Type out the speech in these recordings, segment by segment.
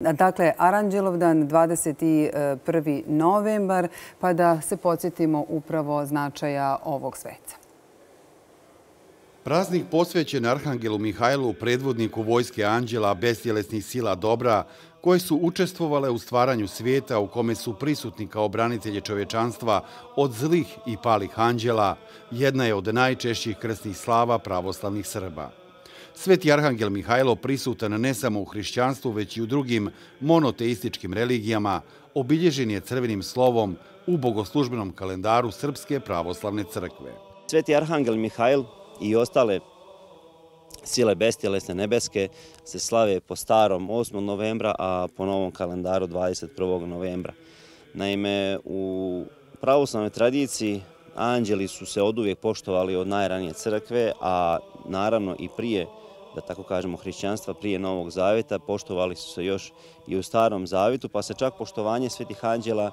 Dakle, Aranđelovdan 21. novembar, pa da se podsjetimo upravo značaja ovog sveca. Praznik posvećen Arhangelu Mihajlu, predvodniku vojske anđela, bestjelesnih sila dobra, koje su učestvovale u stvaranju svijeta u kome su prisutni kao branitelji čovječanstva od zlih i palih anđela, jedna je od najčešćih krsnih slava pravoslavnih Srba. Sveti Arhangel Mihajlo prisutan ne samo u hrišćanstvu, već i u drugim monoteističkim religijama, obilježen je crvenim slovom u bogoslužbenom kalendaru Srpske pravoslavne crkve. Sveti Arhangel Mihajl i ostale sile bestjelesne nebeske se slave po starom 8. novembra, a po novom kalendaru 21. novembra. Naime, u pravoslavnoj tradiciji anđeli su se oduvijek poštovali od najranije crkve, a naravno i prije, da tako kažemo, hrišćanstva, prije Novog Zaveta, poštovali su se još i u Starom Zavetu, pa se čak poštovanje svetih anđela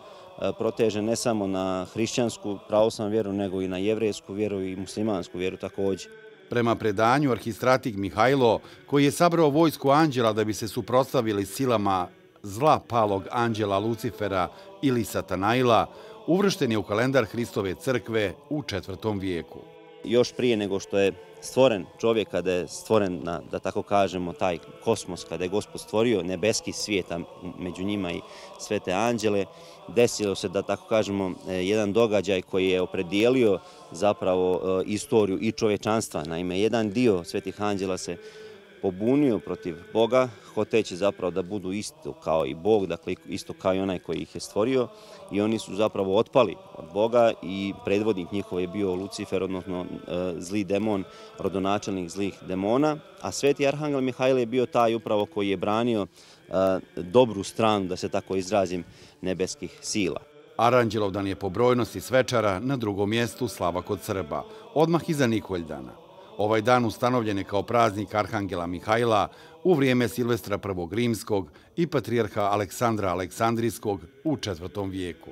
proteže ne samo na hrišćansku pravoslavnu vjeru, nego i na jevrejsku vjeru i muslimansku vjeru također. Prema predanju, arhistratik Mihajlo, koji je sabrao vojsku anđela da bi se suprotstavili silama zla palog anđela Lucifera ili Satanaila, uvršten je u kalendar Hristove crkve u 4. vijeku. Još prije nego što je stvoren čovjek, kada je stvoren, da tako kažemo, taj kosmos, kada je Gospod stvorio nebeski svijet, a među njima i svete anđele, desilo se, da tako kažemo, jedan događaj koji je opredijelio zapravo istoriju i čovječanstva. Naime, jedan dio svetih anđela se pobunio protiv Boga, hoteći zapravo da budu isto kao i Bog, dakle isto kao i onaj koji ih je stvorio, i oni su zapravo otpali od Boga i predvodnik njihov je bio Lucifer, odnosno zli demon, rodonačelnik zlih demona, a sveti Arhangel Mihajlo je bio taj upravo koji je branio dobru stranu, da se tako izrazim, nebeskih sila. Aranđelovdan je po brojnosti svečara na drugom mjestu slava kod Srba, odmah iza Nikoldana. Ovaj dan ustanovljen je kao praznik Arhangela Mihajla u vrijeme Silvestra I. Rimskog i patrijarha Aleksandra Aleksandrijskog u 4. vijeku.